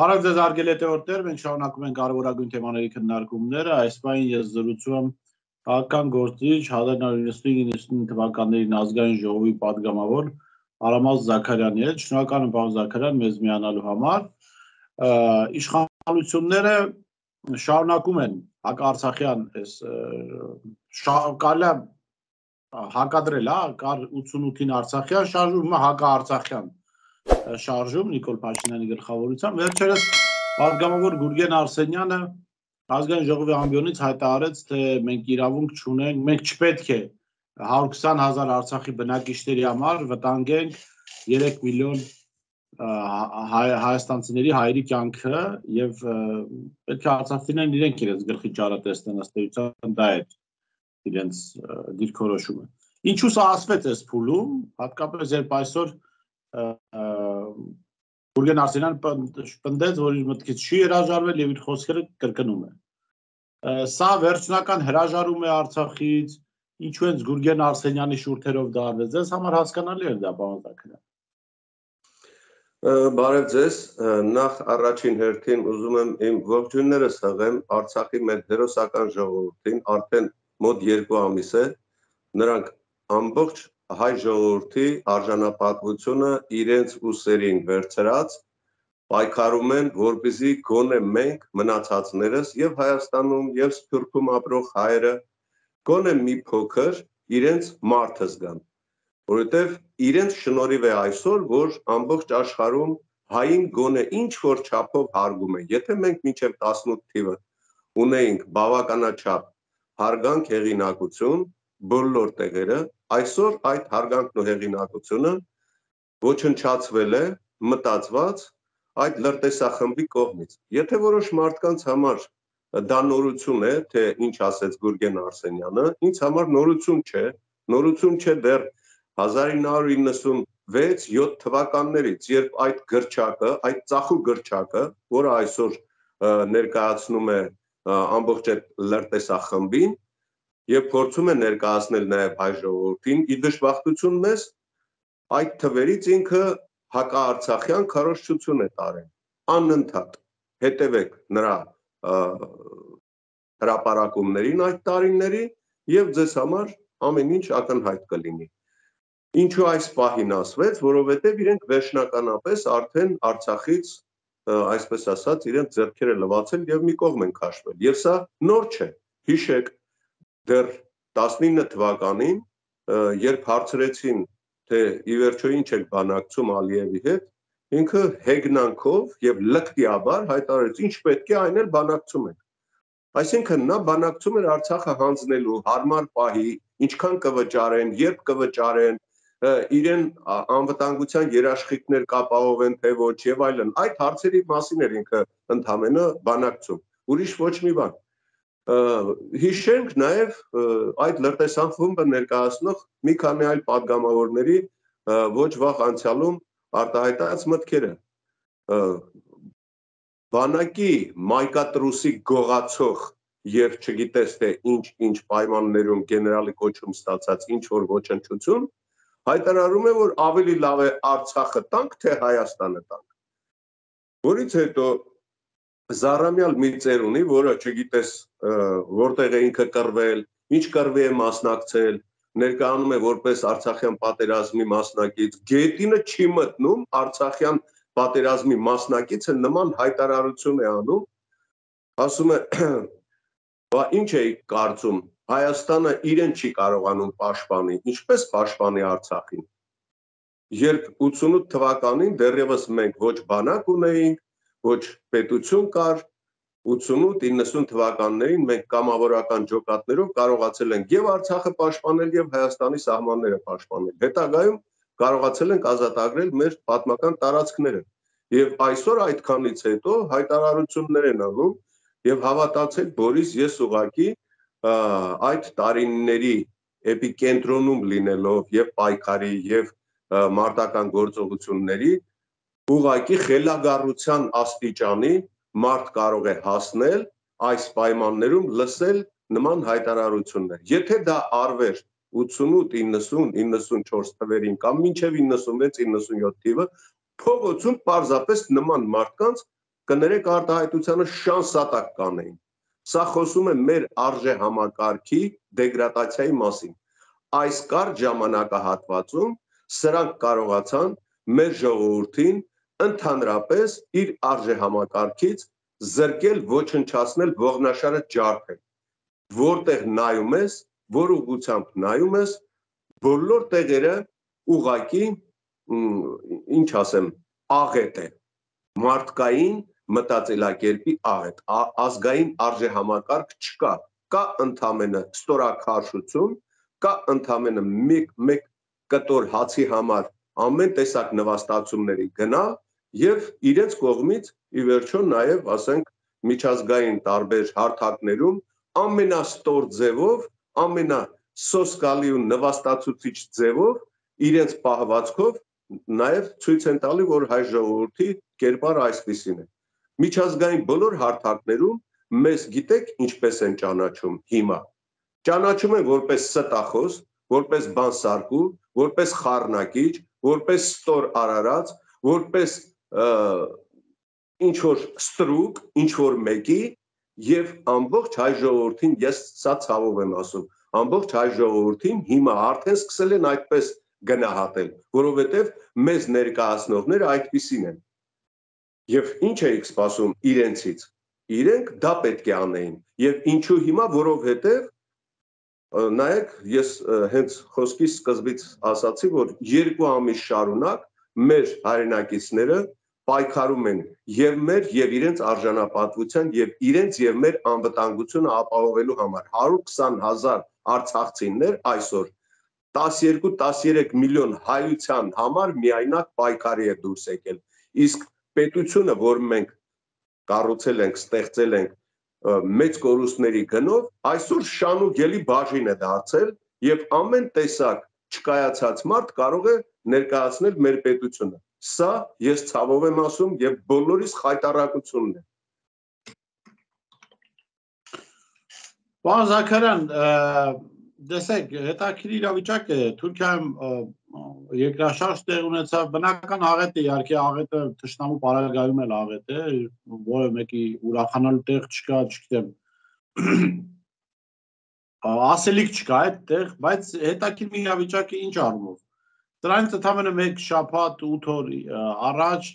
Բարև ձեզ հարգելի հետևորդներ, մենք շարունակում ենք կարևորագույն թեմաների քննարկումները, այս պահին ես զրուցում եմ քաղաքական գործիչ 1995-99 թվականներին ազգային ժողովի падգամավոր Արամած Զաքարյանի հետ, շնորհակալ եմ պարոն Զաքարյան մեզ միանալու համար, իշխանությունները շարունակում են հակաարցախյան կարելի է հակադրել, կար 88-ին Արցախյան շարժում, հիմա հակաարցախյան շարժում Նիկոլ Փաշինյանի գլխավորությամբ վերջերս падգամավոր Գուրգեն Արսենյանը ազգային ժողովի ամբիոնից հայտարարեց, թե մենք իրավունք չունենք, մենք չպետք է 120,000 Արցախի բնակիչների համար վտանգենք 3 միլիոն հայաստանցիների հայերի կյանքը եւ պետք է արցախցիներն իրենք իրենց գլխի ճարը տեսնեն, ըստ էության դա է իրենց դիրքորոշումը։ Ինչու սա ասվեց այս փուլում, հատկապես երբ այսօր Գուրգեն Արսենյանը պնդեց, որ իր մտքից չի հրաժարվել եւ իր խոսքերը կրկնում է։ Սա վերջնական հրաժարում է Արցախից, ինչու են Գուրգեն Արսենյանի շուրթերով դա արվեց, ձեզ համար հասկանալի է դա, պարոն Զաքարյան։ Բարև ձեզ, նախ առաջին հերթին ուզում եմ իմ ողջույններս հղեմ Արցախի մեր հերոսական ժողովրդին, արդեն մոտ 2 ամիս է, նրանք ամբողջ հայ ժողովրդի արժանապատվությունը իրենց ուսերին վերցրած պայքարում են, որպեսզի գոնե մենք մնացածներս եւ Հայաստանում եւ Սփյուռքում ապրող հայերը գոնե մի փոքր իրենց մարդը զգան, որովհետեւ իրենց շնորհիվ է այսօր, որ ամբողջ աշխարհում հային գոնե ինչ որ չափով հարգում են, եթե մենք մինչեւ 18 թիվը ունեինք բավականաչափ հարգանք, հեղինակություն բոլոր տեղերը, այսօր այդ հարգանքն ու հեղինակությունը ոչնչացվել է, մտածված այդ լրտեսախմբի կողմից։ Եթե որոշ մարդկանց համար դա նորություն է, թե ինչ ասեց Գուրգեն Արսենյանը, ինձ համար նորություն չէ դեռ 1996-7 թվականներից, երբ այդ գրչակը, այդ ծախու գրչակը, որը այսօր ներկայացնում է ամբողջ այդ լրտեսախմբին, եւ փորձում է ներկայացնել նաեւ հայ ժողովրդին, ի դժբախտություն մեզ այդ թվերից ինքը հակաարցախյան քարոզչություն է տարել, անընդհատ հետևեք նրա հրապարակումներին այդ տարիների եւ ձեզ համար ամեն ինչ ակնհայտ կլինի։ Ինչու այս պահին ասվեց, որովհետեւ իրենք վերջնականապես արդեն Արցախից, այսպես ասած, իրենց ձեռքերը լվացել եւ մի կողմ են քաշվել։ Եվ սա նոր չէ։ Հիշեք, դեռ 19 թվականին, երբ հարցրեցին, թե ի վերջո ինչ եք բանակցում Ալիևի հետ, ինքը հեգնանքով եւ լկտիաբար հայտարարեց, ինչ պետք է այն էլ բանակցում ենք։ Այսինքն նա բանակցում էր Արցախը հանձնելու հարմար պահի, ինչքան կվճարեն, երբ կվճարեն, իրեն անվտանգության երաշխիքներ կապահովեն, թե ոչ եւ այլն։ Այդ հարցերի մասին էր ինքը ընդհանրապես բանակցում։ Ուրիշ ոչ մի բան։ Հիշենք նաև այդ լրտեսախմբը ներկայացնող մի քանի այլ падգամավորների ոչ վաղ անցյալում արտահայտած մտքերը։ Բանակի մայկատրուսի գողացող եւ չգիտես թե ինչ պայմաններում գեներալի կոչում ստացած ինչ որ ոչնչություն հայտարարում է, որ ավելի լավ է Արցախը տանք, թե Հայաստանը տանք։ Որից հետո Զառամյալ մի ծեր ունի, որը չգիտես որտեղ է ինքը կռվել, ինչ կռվի է մասնակցել, ներկայանում է որպես Արցախյան պատերազմի մասնակից, գետինը չի մտնում Արցախյան պատերազմի մասնակիցը նման հայտարարություն է անում, ասում է, բա ինչ է կարծում, Հայաստանը իրեն չի կարողանում պաշտպանի, ինչպես պաշտպանի Արցախին։ Երբ 88 թվականին դեռևս մենք ոչ բանակ ունեինք, ոչ պետություն կար, 88-90 թվականներին մենք կամավորական ջոկատներով կարողացել ենք եւ Արցախը պաշտպանել եւ Հայաստանի սահմանները պաշտպանել։ Հետագայում կարողացել ենք ազատագրել մեր պատմական տարածքները։ Եվ այսօր այդքանից հետո հայտարարություններ են անում եւ հավատացեք, Բորիս, ես ուղղակի այդ տարիների էպիկենտրոնում լինելով եւ պայքարի եւ մարտական գործողությունների ուղղակի խելագարության աստիճանի մարդ կարող է հասնել այս պայմաններում լսել նման հայտարարություններ։ Եթե դա արվեր 88, 90, 94 թվերին կամ մինչև 96, 97 թիվը, փողոցում պարզապես նման մարդկանց կներեք արտահայտությանը շանսատակ կանեին։ Սա խոսում է մեր արժե համակարգի դեգրադացիայի մասին։ Այս կարճ ժամանակահատվածում սրանք կարողացան մեր ժողովրդին ընդհանրապես իր արժե համակարգից զրկել, ոչնչացնել, ողնաշարը ջարդել։ Որտեղ նայում ես, որ ուղղությամբ նայում ես, բոլոր տեղերը ուղղակի, ինչ ասեմ, աղետ է, մարդկային մտածելակերպի աղետ, ազգային արժե համակարգ չկա, կա ընդամենը ստորաքարշություն, կա ընդամենը մեկ կտոր հացի համար ամեն տեսակ նվաստացումների գնալ եւ իրենց կողմից ի վերջո նաեւ, ասենք, միջազգային տարբեր հարթակներում ամենաստոր ձևով, ամենասոսկալի ու նվաստացուցիչ ձևով իրենց պահվածքով նաեւ ցույց են տալի, որ հայ ժողովրդի կերպարը այսպիսին է։ Միջազգային բոլոր հարթակներում մեզ գիտեք ինչպես են ճանաչում հիմա։ Ճանաչում են որպես ստախոս, որպես բանսարկու, որպես խառնակիչ, որպես ստոր արարած, որպես ինչ որ ստրուկ, ինչ որ մեկի եւ ամբողջ հայ ժողովրդին, ես սա ցավով եմ ասում, ամբողջ հայ ժողովրդին հիմա արդեն սկսել են այդպես գնահատել, որովհետեւ մեզ ներկայացնողները այդպիսին են։ Եվ ինչ էիք սպասում իրենցից։ Իրենք դա պետք է անեին։ Եվ ինչու հիմա, որովհետեւ նայեք, ես հենց խոսքի սկզբից ասացի, որ 2 ամիս շարունակ մեր հայրենակիցները պայքարում են եւ մեր եւ իրենց արժանապատվության եւ իրենց եւ մեր անվտանգությունը ապահովելու համար 120,000 արցախցիներ այսօր 12-13 միլիոն հայության համար միայնակ պայքարի է դուրս եկել։ Իսկ պետությունը, որ մենք կառուցել ենք, ստեղծել ենք մեծ կորուստների գնով, այսօր շանուգելի բաժին է դարձել եւ ամեն տեսակ չկայացած մարդ կարող է ներկայացնել մեր պետությունը։ Սա ես ցավով եմ ասում եւ բոլորիս խայտարակությունն է։ Պարոն Զաքարյան, տեսեք, հետաքրքիր իրավիճակ է, Թուրքիայում երկրաշարժ տեղ ունեցավ, բնական աղետ է, իհարկե աղետը թշնամու պարագայում էլ աղետ է, որը մեկի ուրախանալու տեղ չկա, չգիտեմ, ասելիք չկա այդտեղ, բայց հետաքրքիր իրավիճակը ինչ առումով։ Դրանից ընդամենը մեկ շաբաթ 8 օր առաջ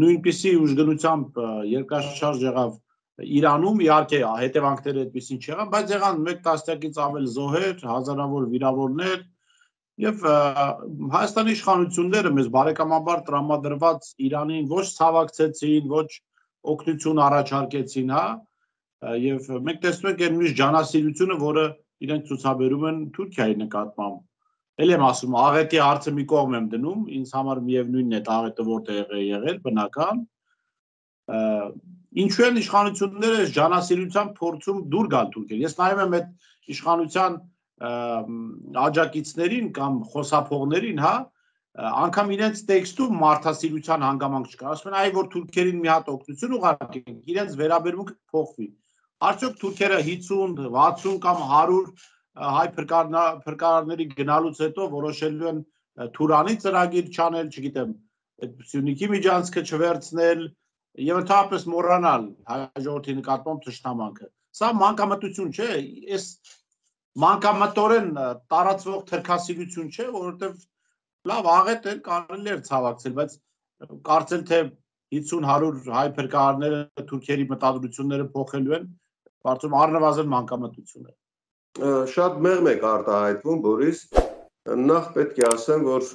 նույնպիսի ուժգնությամբ երկրաշարժ եղավ Իրանում, իհարկե հետևանքները այդպեսին չեղան, բայց եղան 1 տասնյակից ավել զոհեր, հազարավոր վիրավորներ եւ Հայաստանի իշխանությունները մեզ բարեկամաբար տրամադրված Իրանին ոչ ցավակցեցին, ոչ օգնություն առաջարկեցին, հա, եւ մենք տեսնում ենք այն միշտ ջանասիրությունը, որը իրենք ցուցաբերում են Թուրքիայի նկատմամբ։ Էլ եմ ասում, աղետի հարցը մի կողմ եմ դնում, ինձ համար միևնույնն է աղետը որտեղ է եղել, բնական։ Ինչու են իշխանությունները ջանասիրության փորձում դուր գալ Թուրքիան։ Ես նայում եմ այդ իշխանության աջակիցներին կամ խոսափողներին, հա, անգամ իրենց տեքստում մարդասիրության հանգամանք չկա։ Ասում են, այ որ թուրքերին մի հատ օգնություն ուղարկենք, իրենց վերաբերմունքը փոխվի։ Արդյոք թուրքերը 50, 60 կամ 100 հայ փրկարարների գնալուց հետո որոշելու են Թուրանի ծրագիր չանել, չգիտեմ, այդ Սյունիքի միջանցքը չվերցնել եւ ընդհանրապես մոռանալ հայ ժողովրդի նկատմամբ թշնամանքը։ Սա մանկամտություն չէ, այս մանկամտորեն տարածվող թրքասիրություն չէ, որովհետեւ լավ աղետ է, կարելի է ցավակցել, բայց կարծել թե 50-100 հայ փրկարարները թուրքերի մտադրությունները փոխելու են, կարծում առնվազն մանկամտություն է։ Շատ մեղմ եք արտահայտվում, Բորիս, նախ պետք է ասեմ, որ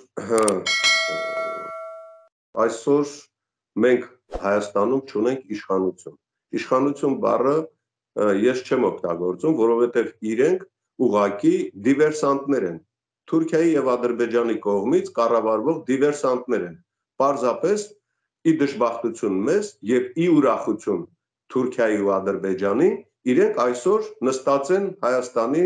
այսօր մենք Հայաստանում չունենք իշխանություն։ Իշխանություն բառը ես չեմ օգտագործում, որովհետև իրենք ուղղակի դիվերսանտներ են։ Թուրքիայի եւ Ադրբեջանի կողմից կառավարվող դիվերսանտներ են։ Պարզապես ի դժբախտություն մեզ եւ ի ուրախություն Թուրքիայի ու Ադրբեջանի իրենք այսօր նստած են Հայաստանի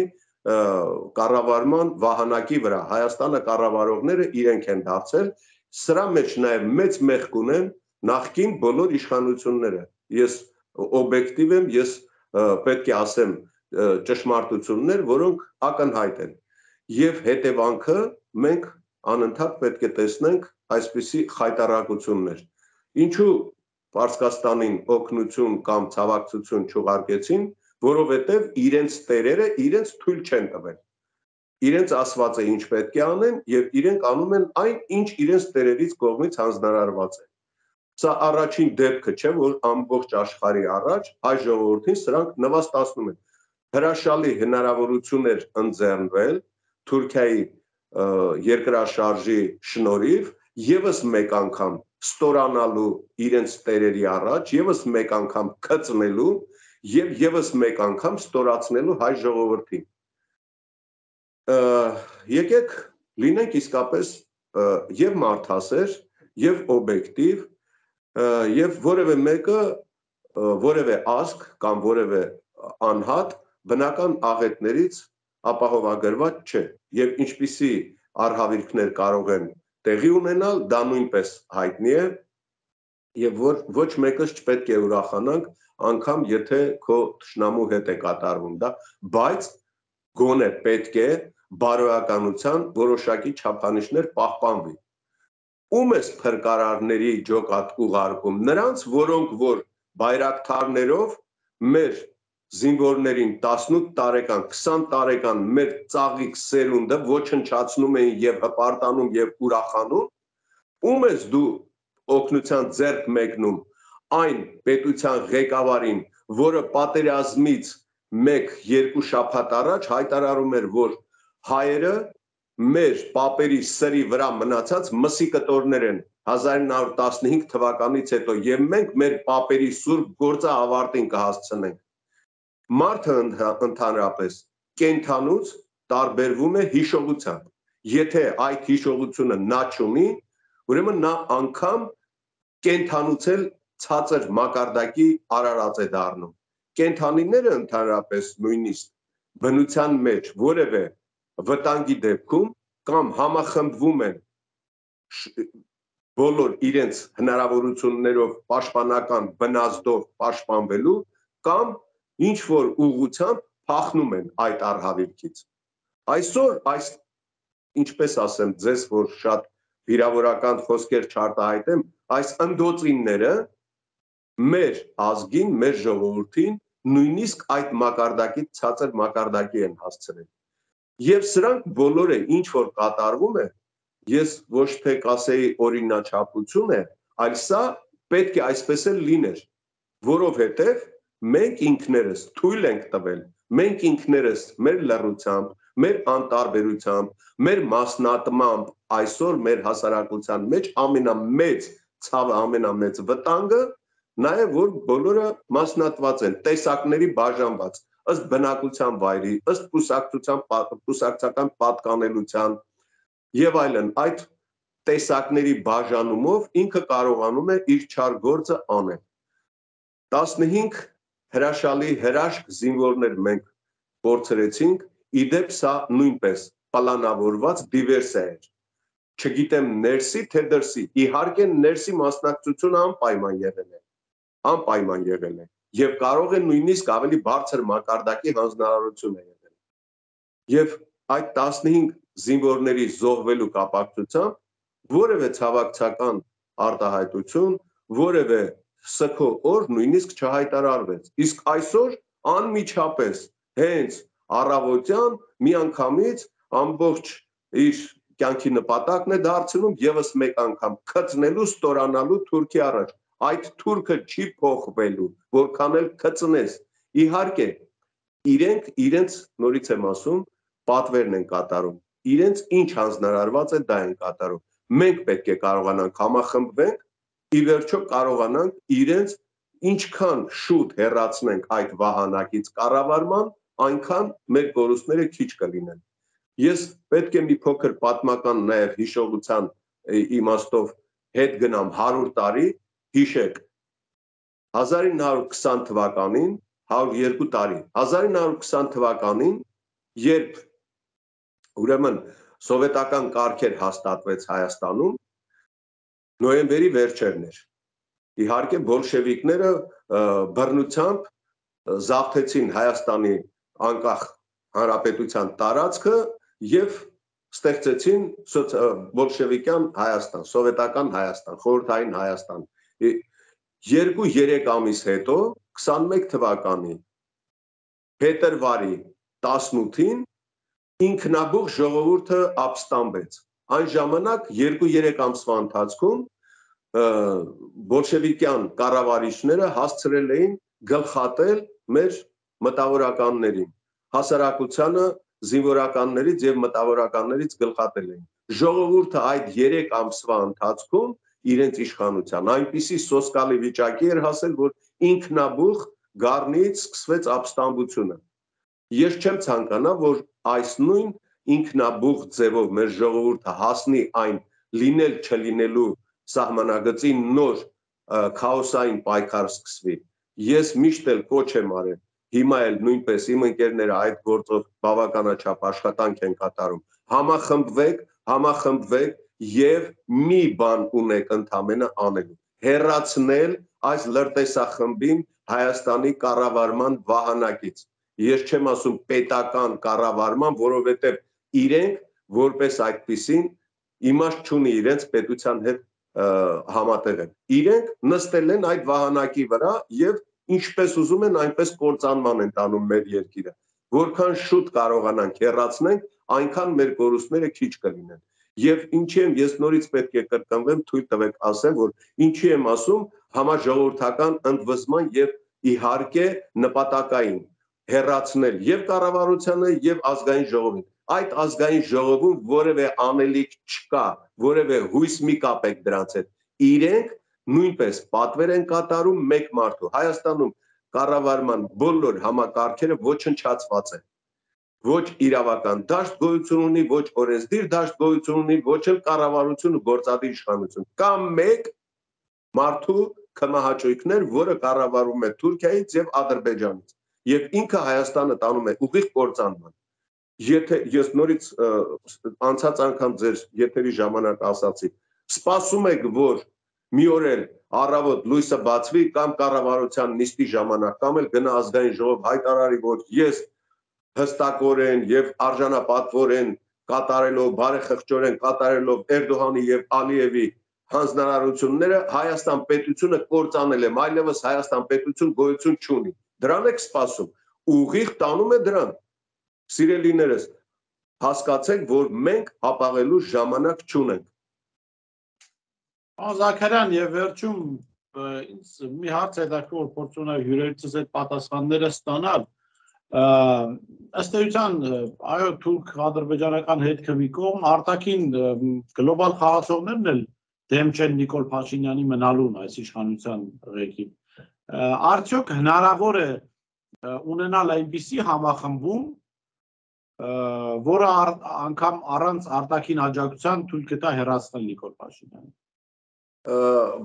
կառավարման վահանակի վրա։ Հայաստանը կառավարողները իրենք են դարձել։ Սրա մեջ նաեւ մեծ մեղք ունեն նախկին բոլոր իշխանությունները։ Ես օբյեկտիվ եմ, ես պետք է ասեմ ճշմարտություններ, որոնք ակնհայտ են։ Եվ հետևանքը մենք անընդհատ պետք է տեսնենք այսպիսի խայտարակություններ։ Ինչու Պարսկաստանին օգնություն կամ ցավակցություն չուղարկեցին, որովհետև իրենց տերերը իրենց թույլ չեն տվել։ Իրենց ասված է ինչ պետք է անեն եւ իրենք անում են այն, ինչ իրենց տերերից կողմից հանձնարարված է։ Սա առաջին դեպքը չէ, որ ամբողջ աշխարհի առաջ հայ ժողովրդին սրանք նվաստացնում են։ Հրաշալի հնարավորություն էր ընձեռնվել Թուրքիայի երկրաշարժի շնորհիվ եւս մեկ անգամ ստորանալու իրենց տերերի առաջ, եւս մեկ անգամ քծնելու եւ եւս մեկ անգամ ստորացնելու հայ ժողովրդին։ Եկեք լինենք իսկապես եւ մարդասեր, եւ օբյեկտիվ, եւ որևէ մեկը, որևէ ազգ կամ որևէ անհատ բնական աղետներից ապահովագրված չէ, եւ ինչպիսի արհավիրքներ կարող են տեղի ունենալ, դա նույնպես հայտնի է, եւ ոչ մեկս չպետք է ուրախանանք, անգամ եթե քո թշնամու հետ է կատարվում դա, բայց գոնե պետք է բարոյականության որոշակի չափանիշներ պահպանվի։ Ում է փրկարարների ջոկատ ուղարկում, նրանց, որոնք որ բայրակթարներով մեր զինվորներին 18 տարեկան, 20 տարեկան մեր ծաղիկ սերունդը ոչնչացնում էին եւ հպարտանում եւ ուրախանում, ում ես դու օգնության ձեռք մեկնում այն պետության ղեկավարին, որը պատերազմից 1-2 շաբաթ առաջ հայտարարում էր, որ հայերը մեր պապերի սրի վրա մնացած մսի կտորներ են 1915 թվականից հետո եւ մենք մեր պապերի սուրբ գործը ավարտին կհասցնենք։ Մարդը ընդհանրապես կենթանուց տարբերվում է հիշողությամբ։ Եթե այդ հիշողությունը նա չունի, ուրեմն նա անգամ կենթանուց էլ ցածր մակարդակի արարած է դառնում։ Կենթանիները ընդհանրապես նույնիսկ բնության մեջ որևէ վտանգի դեպքում կամ համախմբվում են բոլոր իրենց հնարավորություններով պաշտպանական բնազդով պաշտպանվելու կամ ինչ որ ուղղությամբ փախնում են այդ արհավիրքից։ Այսօր ինչպես ասեմ ձեզ, որ շատ վիրավորական խոսքեր չարտահայտեմ, այս ընդոցինները մեր ազգին, մեր ժողովրդին նույնիսկ այդ մակարդակից ցածր մակարդակի են հասցրել։ Եվ սրանք բոլորը ինչ որ կատարվում է, ես ոչ թե կասեի օրինաչափություն է, այլ սա պետք է այսպես էլ լիներ, որովհետև մենք ինքներս թույլ ենք տվել, մենք ինքներս մեր լռությամբ, մեր անտարբերությամբ, մեր մասնատմամբ այսօր մեր հասարակության մեջ ամենամեծ ցավը, ամենամեծ վտանգը նա է, որ բոլորը մասնատված են, տեսակների բաժանված, ըստ բնակության վայրի, ըստ կուսակցական պատկանելության եւ այլն, այդ տեսակների բաժանումով ինքը կարողանում է իր չար գործը անել։ 15 հրաշալի հրաշք զինվորներ մենք փորձրեցինք, իդեպ սա նույնպես պլանավորված դիվերսիա էր։ Չգիտեմ ներսի թե դրսի, իհարկե ներսի մասնակցությունը անպայման եղել է եւ կարող է նույնիսկ ավելի բարձր մակարդակի հանձնարարություն է եղել։ Եվ այդ 15 զինվորների զոհվելու կապակցությամբ որևէ ցավակցական արտահայտություն, որևէ սգո օր նույնիսկ չհայտարարվեց։ Իսկ այսօր անմիջապես հենց առավոտյան միանգամից ամբողջ իր կյանքի նպատակն է դարձնում եւս մեկ անգամ քծնելու, ստորանալու Թուրքի առաջ։ Այդ թուրքը չի փոխվելու, որքան էլ քծնես։ Իհարկե, իրենց նորից եմ ասում, պատվերն են կատարում։ Իրենց ինչ հանձնարարված է, դա են կատարում։ Մենք պետք է կարողանանք համախմբվենք, ի վերջո կարողանանք իրենց ինչքան շուտ հեռացնենք այդ վահանակից կառավարման, այնքան մեր կորուստները քիչ կլինեն։ Ես պետք է մի փոքր պատմական նաև հիշողության իմաստով հետ գնամ 100 տարի, հիշեք 1920 թվականին, 102 տարի, 1920 թվականին, երբ ուրեմն սովետական կարգեր հաստատվեց Հայաստանում, նոյեմբերի վերջերն էր։ Իհարկե բոլշևիկները բռնությամբ զավթեցին Հայաստանի անկախ հանրապետության տարածքը եւ ստեղծեցին բոլշևիկյան Հայաստան, սովետական Հայաստան, խորհրդային Հայաստան։ 2-3 ամիս հետո 21 թվականի փետրվարի 18-ին ինքնաբուխ ժողովուրդը ապստամբեց։ Այն ժամանակ 2-3 ամսվա ընթացքում բոլշևիկյան կառավարիչները հասցրել էին գլխատել մեր մտավորականներին, հասարակությանը զինվորականներից եւ մտավորականներից գլխատել էին։ Ժողովուրդը այդ 3 ամսվա ընթացքում իրենց իշխանության այնպիսի սոսկալի վիճակի էր հասել, որ ինքնաբուխ գառնից սկսվեց ապստամբությունը։ Ես չեմ ցանկանա, որ այս նույն ինքնաբուխ ձևով մեր ժողովուրդը հասնի այն լինել չլինելու սահմանագծին նոր քաոսային պայքար սկսվի։ Ես միշտ էլ կոչ եմ արել, հիմա էլ նույնպես իմ ընկերները այդ գործով բավականաչափ աշխատանք են կատարում։ Համախմբվեք եւ մի բան ունեք ընդամենը անելու։ Հեռացնել այս լրտեսախմբին Հայաստանի կառավարման վահանակից։ Ես չեմ ասում պետական կառավարման, որովհետեւ իրենք որպես այդպիսին իմաստ չունի իրենց պետության հետ համատեղել։ Իրենք նստել են այդ վահանակի վրա եւ ինչպես ուզում են այնպես կործանման են տանում մեր երկիրը։ Որքան շուտ կարողանանք հեռացնենք, այնքան մեր կորուստները քիչ կլինեն։ Եվ ինչի եմ ես նորից պետք է կրկնվեմ, թույլ տվեք ասեմ, որ ինչի եմ ասում համաժողովրդական ընդվզման եւ իհարկե նպատակային հեռացնել եւ կառավարությանը եւ ազգային ժողովին։ Այդ ազգային ժողովում որևէ անելիք չկա, որևէ հույս մի կապեք դրանց հետ։ Իրենք նույնպես պատվեր են կատարում մեկ մարդու։ Հայաստանում կառավարման բոլոր համակարգերը ոչնչացված են։ Ոչ իրավական դաշտ գոյություն ունի, ոչ օրենսդիր դաշտ գոյություն ունի, ոչ էլ կառավարություն ու գործադիր իշխանություն։ Կամ մեկ մարդու կմահաճույքներ, որը կառավարում է Թուրքիայից եւ Ադրբեջանից։ Եվ ինքը Հայաստանը տանում է ուղիղ կործանման։ Եթե ես նորից անցած անգամ ձեր եթերի ժամանակ ասացի, սպասում եք, որ մի օր էլ առավոտ լույսը բացվի կամ կառավարության նիստի ժամանակ կամ էլ գնա ազգային ժողով հայտարարի, որ ես հստակորեն եւ արժանապատվորեն կատարելով բարեխղճորեն կատարելով Էրդողանի եւ Ալիևի հանձնարարությունները Հայաստան պետությունը կործանել եմ, այլևս Հայաստան պետություն գոյություն չունի։ Դրան եք սպասում, ուղիղ տանում է դրան։ Սիրելիներս, հասկացեք, որ մենք հապաղելու ժամանակ չունենք։ Զաքարյան, եւ վերջում ինձ մի հարց հետաքրքիր փորձում եմ հյուրերից այդ պատասխանները ստանալ։ Ըստ էության, այո, թուրք-ադրբեջանական հետքը մի կողմ, արտաքին գլոբալ խաղացողներն էլ դեմ չեն Նիկոլ Փաշինյանի մնալուն այս իշխանության ղեկին։ Արդյոք հնարավոր է ունենալ այնպիսի համախմբում, որը անգամ առանց արտաքին աջակցության թույլ կտա հեռացնել Նիկոլ Փաշինյանին։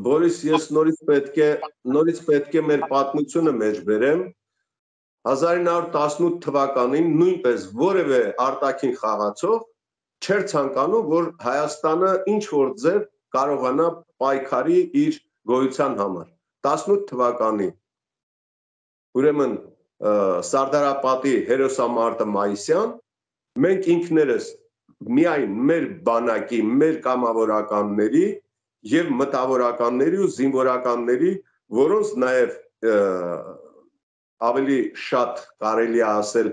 Բորիս, ես նորից պետք է մեր պատմությունը մեջ բերեմ։ 1918 թվականին նույնպես որևէ արտաքին խաղացող չէր ցանկանում, որ Հայաստանը ինչ որ ձև կարողանա պայքարի իր գոյության համար։ 18 թվականի ուրեմն Սարդարապատի հերոսամարտը մայիսյան մենք ինքներս միայն մեր բանակի, մեր կամավորականների եւ մտավորականների ու զինվորականների, որոնց նաեւ ավելի շատ կարելի է ասել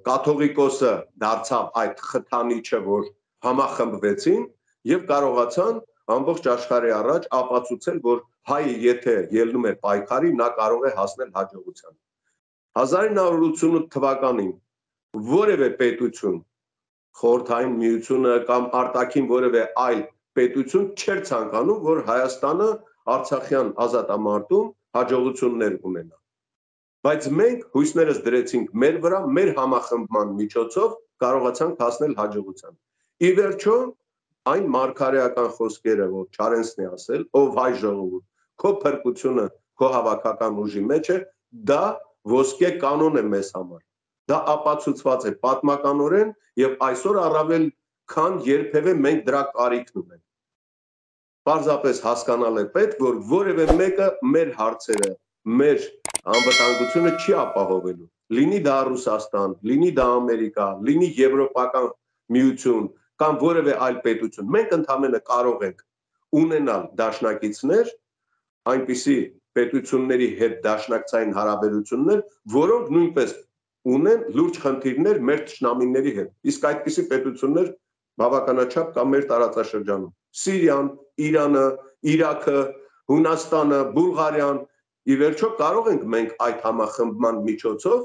կաթողիկոսը դարձավ այդ խթանիչը, որ համախմբվեցին եւ կարողացան ամբողջ աշխարհի առաջ ապացուցել, որ հայը եթե ելնում է պայքարի, նա կարող է հասնել հաջողության։ 1988 թվականին որևէ պետություն, Խորհրդային Միությունը կամ արտաքին որևէ այլ պետություն չէր ցանկանում, որ Հայաստանը Արցախյան ազատամարտում հաջողություններ ունենա։ Բայց մենք հույսներս դրեցինք մեր վրա, մեր համախմբման միջոցով կարողացանք հասնել հաջողության։ Ի վերջո, այն մարգարեական խոսքերը, որ Չարենցն է ասել, ով հայ ժողովուրդ, քո փրկությունը քո հավաքական ուժի մեջ է, դա ոսկե կանոն է մեզ համար։ Դա ապացուցված է պատմականորեն եւ այսօր առավել քան երբևէ մենք դրա կարիքն ունենք։ Պարզապես հասկանալ է պետք, որ որևէ մեկը մեր հարցերը, մեր անվտանգությունը չի ապահովելու։ Լինի դա Ռուսաստան, լինի դա Ամերիկա, լինի Եվրոպական միություն կամ որևէ այլ պետություն։ Մենք ընդհանրապես կարող ենք ունենալ դաշնակիցներ, այնպիսի պետությունների հետ դաշնակցային հարաբերություններ, որոնք նույնպես ունեն լուրջ խնդիրներ մեր թշնամիների հետ։ Իսկ այդպիսի պետություններ բավականաչափ կա մեր տարածաշրջանում։ Սիրիան, Իրանը, Իրաքը, Հունաստանը, Բուլղարիան, ի վերջո կարող ենք մենք այդ համախմբման միջոցով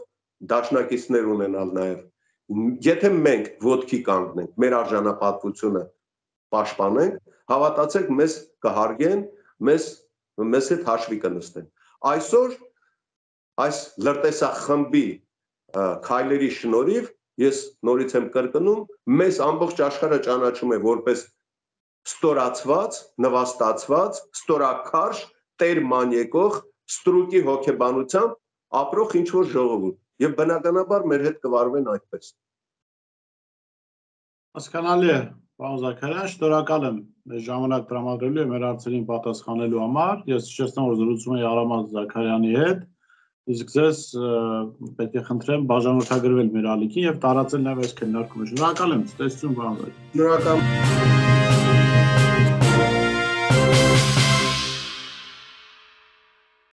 դաշնակիցներ ունենալ նաև։ Եթե մենք ոտքի կանգնենք, մեր արժանապատվությունը պաշտպանենք, հավատացեք, մեզ կհարգեն, մեզ հետ հաշվի կնստեն։ Այսօր այս լրտեսախմբի քայլերի շնորհիվ ես նորից եմ կրկնում, մեզ ամբողջ աշխարհը ճանաչում է որպես ստորացված, նվաստացված, ստորաքարշ, տեր մանյեկող, ստրուկի հոգեբանությամբ ապրող ինչ-որ ժողովուրդ, եւ բնականաբար մեր հետ կվարվեն այդպես։ Հասկանալի է, պարոն Զաքարյան, շնորհակալ եմ մեր ժամանակ տրամադրելու եւ մեր հարցերին պատասխանելու համար։ Ես հիշեցնում, որ զրուցում էի Արամած Զաքարյանի հետ, իսկ ձեզ պետք է խնդրեմ բաժանորդագրվել մեր ալիքին եւ տարածել նաեւ այս քննարկումը։ Շնորհակալ եմ, ցտեսություն, պարոն Զաքարյան։ Շնորհակալ